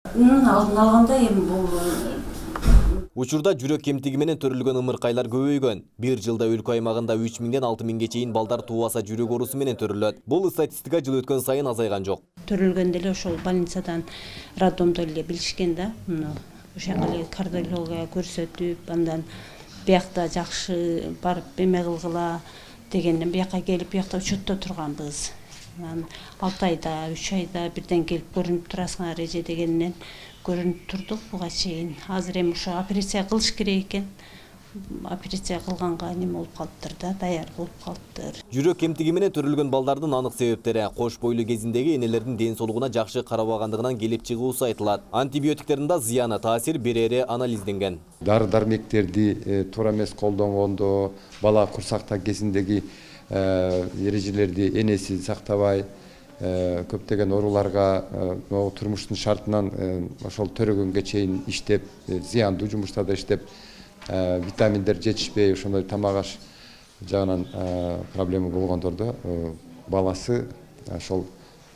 Алдын алганда эми бул Учурда жүрөк кемтиги менен төрөлгөн ымыркайлар көбөйгөн. Бир жылда өлкө аймагында 3000ден 6000ге чейин балдар тубаса жүрөк оорусу менен төрөлөт. Бул статистика жыл өткөн сайын азайган жок. төрөлгөндө эле ошол больницадан, роддомдо эле билишкен да. Ошол эле кардиология көрсөтүп, андан биякта жакшы барып эме кылгыла дегенден бияка келип биякта учетто турганбыз. 6 айда, 3 айда бирден келип көрүнүп турасыңар эже дегенден көрүнүп турдук буга чейин. Азыр эми ошо операция кылыш керек экен. Операция кылганга неме болуп калыптыр да, даяр болуп калыптыр. Жүрөк кемтиги менен төрөлгөн балдардын анык себептери кош бойлуу кезиндеги энелердин ден соолугуна жакшы карабагандыгынан келип чыгуусу айтылат. Антибиотиктердин да зыяны, таасир берери анализденген. Дары-дармектерди туура эмес колдонгондо, бала курсакта кезиндеги эрежелерди энеси сактабай, көптөгөн ооруларга турмуштун шартынан ошол төрөгөнгө чейин иштеп, зыяндуу жумуштарда иштеп, витаминдер жетишпей, ошондой тамак аш жагынан проблема болгондордо баласы ошол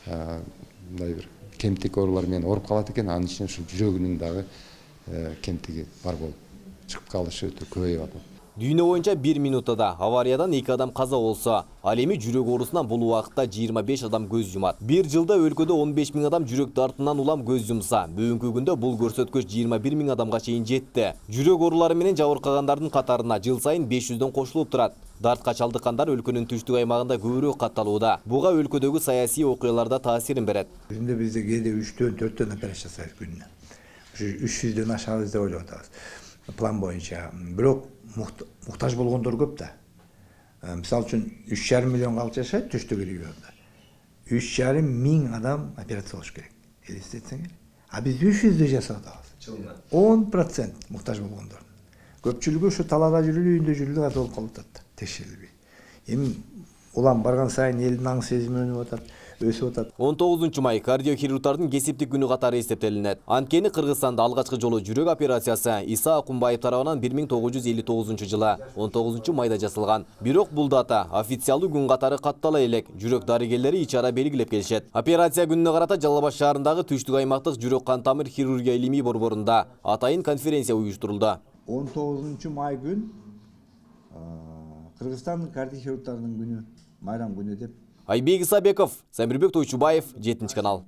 мындай бир кемтик оорулар менен ооруп калат экен. Анын ичинен ушул жүрөгүнүн дагы кемтиги бар болуп чыгып калышы өтө көбөйүп атат. Дүйнө боюнча 1 минутада авариядан 2 адам каза болсо, ал эми жүрөк оорусунан бул убакытта 25 адам көз жумат. Бир жылда өлкөдө 15 000 адам жүрөк дартынан улам көз жумса, бүгүнкү күндө бул көрсөткүч 21 000 адамга чейин жетти. Жүрөк оорулары менен жабыркагандардын катарына жыл сайын 500дөн кошулуп турат. Дартка чалдыккандар өлкөнүн түштүк аймагында көбүрөөк катталууда. Буга өлкөдөгү саясий окуяларда таасирин берет. Күндө бизде кээде 3-төн 4төн операция жасайбыз күнүнө. Ушу 300дөн ашабыз деп ойлоп атабыз. План боюнча. Бирок муктаж болгондор көп да. Мисалы үчүн 3,5 миллион калк жашайт түштүк регионда. 3,5 миң адам операция болуш керек. Элестетсеңер. А биз 300дө жасап атабыз. 10% муктаж болгондор. Көпчүлүгү ушу талаада жүрүлүп, үйүндө жүрүлүп ката болуп калып атат. Текшерилбей. Эми улам барган сайын элдин аң сезими өнүп атат, өсүп атат. 19 май кардиохирургдардын кесиптик күнү катары эсептелинет. Анткени Кыргызстанда алгачкы жолу жүрөк операциясы Иса Акунбаев тарабынан 1959 жылы 19 майда жасалган. Бирок бул дата официалдуу күн катары каттала элек. Жүрөк дарыгерлери ичара белгилеп келишет. Операция күнүнө карата Жалал Абад шаарындагы түштүк аймактык жүрөк кан тамыр хирургия илимий борборунда атайын конференция уюштурулду. 19 май күн Кыргызстан кардиохирургтарынын күнү, майрам күнү деп. Айбек Исабеков, Самирбек Тойчубаев, 7 канал.